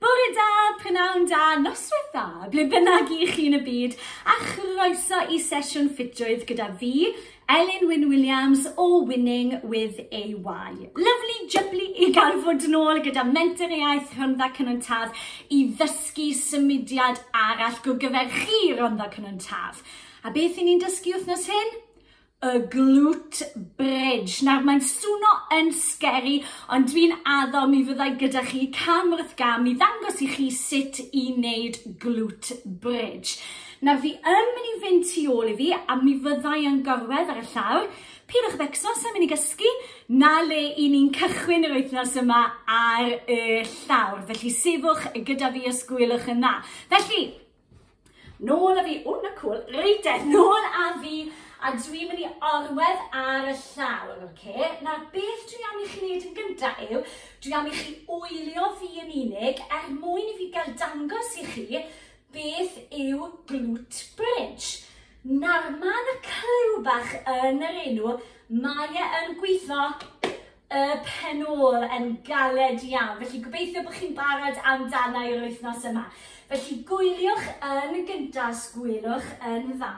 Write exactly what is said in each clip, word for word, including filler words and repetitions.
Bore da, prynawn da, noswaith dda, ble bynnag i chi yn y byd, a chroeso i sesiwn ffitrwydd gyda fi, Elin Wyn Williams o Winning with a Y. Lovely jubbly i gael fod yn ôl gyda Menter Iaith Rhondda Cynon Taf i ddysgu symudiad arall go gyfer chi Rhondda Cynon Taf. A beth i ni'n dysgu wythnos hyn? Y glute bridge. Nawr, mae'n swno yn scary, ond dwi'n addo mi fyddai gyda chi cam wrth gam i ddangos i chi sut i wneud glute bridge. Nawr, fi yn mynd i fynd tu ôl i fi, a mi fyddai yn gorwedd ar y llawr. Pidwch becso, sa'n mynd i gysgu, na le i ni'n cychwyn yr wythnos yma ar y llawr. Felly, sefwch gyda fi os gwelwch yn dda. Felly, nôl â fi, o, na cool, reit e, nôl â fi, a dwi'n mynd i orwedd ar y llawr, oce? Nawr, beth dwi am i chi wneud yn gyntaf yw, dwi am i chi wylio fi yn unig er mwyn i fi gael dangos i chi beth yw glute bridge. Nawr, mae yna clyw bach yn yr enw, mae e yn gweithio y pen ôl yn galed iawn. Felly gobeithio bod chi'n barod amdana i'r wythnos yma. Felly gwyliwch yn gyntaf, gwylwch yn dda.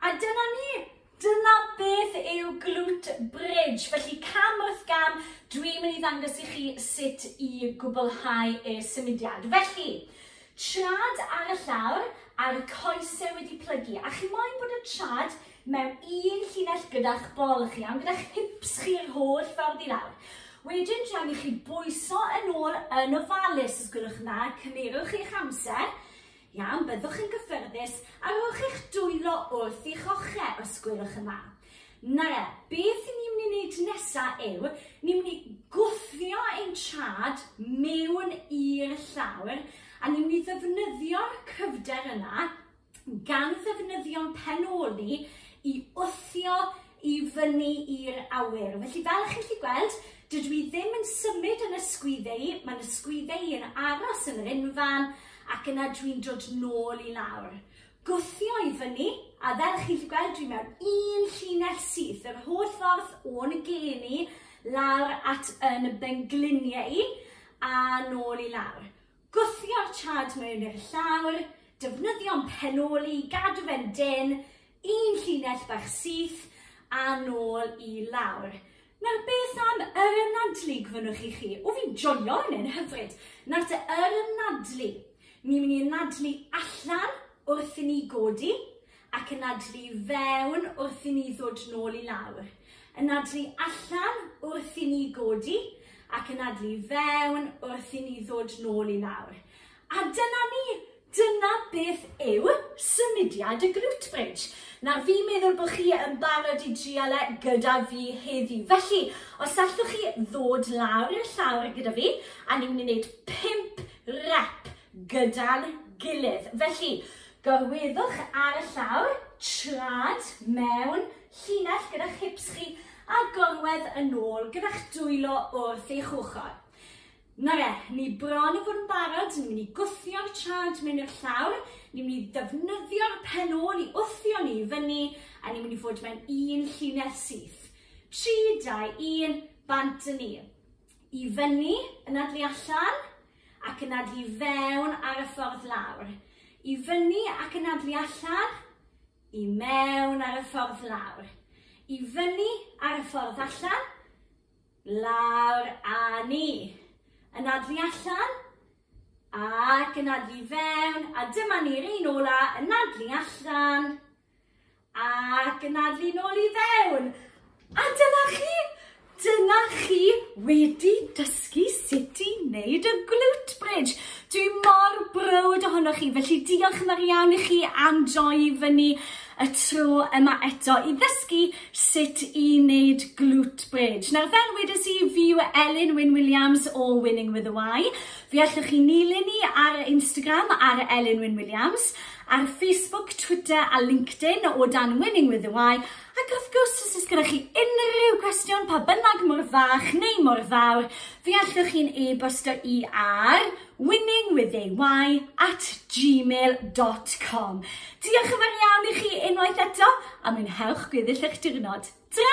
A dyna ni, dyna beth yw glute bridge. Felly cam wrth gam, dwi'n mynd i ddangos i chi sut i gwblhau y symudiad. Felly, trad ar y llawr a'r coesau wedi plygu. A chi moyn bod y trad mewn un llinell gyda'ch bol chi, iawn, gyda'ch hips chi'r holl ffordd i lawr. Wedyn, dwi am i chi bwyso yn ôl yn ofalus, os gwelwch yn dda, cymerwch eich amser. Iawn, byddwch yn gyffyrddus a rhowch eich dwylo wrth i'ch ochr os gwelwch yn dda. Nawr, beth ni'n mynd i wneud nesaf yw, ni'n mynd i gwthio ein trad mewn i'r llawr a ni'n mynd i ddefnyddio'r cryfder yna gan ddefnyddio'n pen ôl ni i wthio i fyny i'r awyr. Felly fel chi'n gallu gweld, dydw i ddim yn symud yn ysgwyddau i, mae'n ysgwyddau i yn aros yn yr unfan, ac yna dwi'n dod nôl i lawr. Gwthio i fyny, a fel chi'n gallu gweld, dwi mewn un llinell syth, yr holl ffordd o'n gen i, lawr at yn bengliniau i, a nôl i lawr. Gwthio'r trad mewn i'r llawr, defnyddio'n pen ôl i, gadw fe'n dyn, un llinell bach syth, a nôl i lawr. Nawr, beth am yr anadlu gofynnwch i chi? O, fi'n joio hynny'n hyfryd. Nawr te, yr anadlu. Ni'n mynd i anadlu allan wrth i ni godi ac anadlu fewn wrth i ni ddod nôl i lawr. Anadlu allan wrth i ni godi ac anadlu fewn wrth i ni ddod nôl i lawr. A dyna ni! Dyna beth yw symudiad y glute bridge. Nawr, fi'n meddwl bod chi yn barod i drial e gyda fi heddi. Felly, os allwch chi ddod lawr i'r llawr gyda fi, a ni'n mynd i wneud pump rep gyda'n gilydd. Felly, gorweddwch ar y llawr, trad mewn llinell gyda'ch hips chi, a gorwedd yn ôl gyda'ch dwylo wrth eich ochr. Nawr e, ni bron i fod yn barod, ni'n mynd i gwthio'r trad mewn i'r llawr, ni'n mynd i ddefnyddio'r pen ôl i wthio ni fyny, a ni'n mynd i fod mewn un llinell syth. Tri, dau, un, bant yn ni. I fyny, anadlu allan, ac anadlu fewn ar y ffordd lawr. I fyny ac anadlu allan, i mewn ar y ffordd lawr. I fyny ar y ffordd allan, lawr a ni. Anadlu allan, ac anadlu fewn, a dyma ni'r un ola, anadlu allan, ac anadlu nôl i fewn. A dyna chi, dyna chi wedi dysgu sut i wneud y glute bridge. Dwi mor browd ohonoch chi, felly diolch yn fawr iawn i chi am droi fyny y tro yma eto i ddysgu sut i wneud glute bridge. Nawr, fel wedes i, fi yw Elin Wyn Williams o Winning with a Y. Fi allwch chi nilyn ni ar Instagram ar Elin Wyn Williams, ar Facebook, Twitter a LinkedIn o dan Winning with a Y. Ac wrth gwrs, os oes gyda chi unrhyw gwestiwn, pa bynnag mor fach neu mor fawr, fi allwch chi'n e-bostio i ar winningwithay at gmail dot com. Diolch yn fawr iawn i chi unwaith eto, a mwynhewch gweddill eich diwrnod. Ta!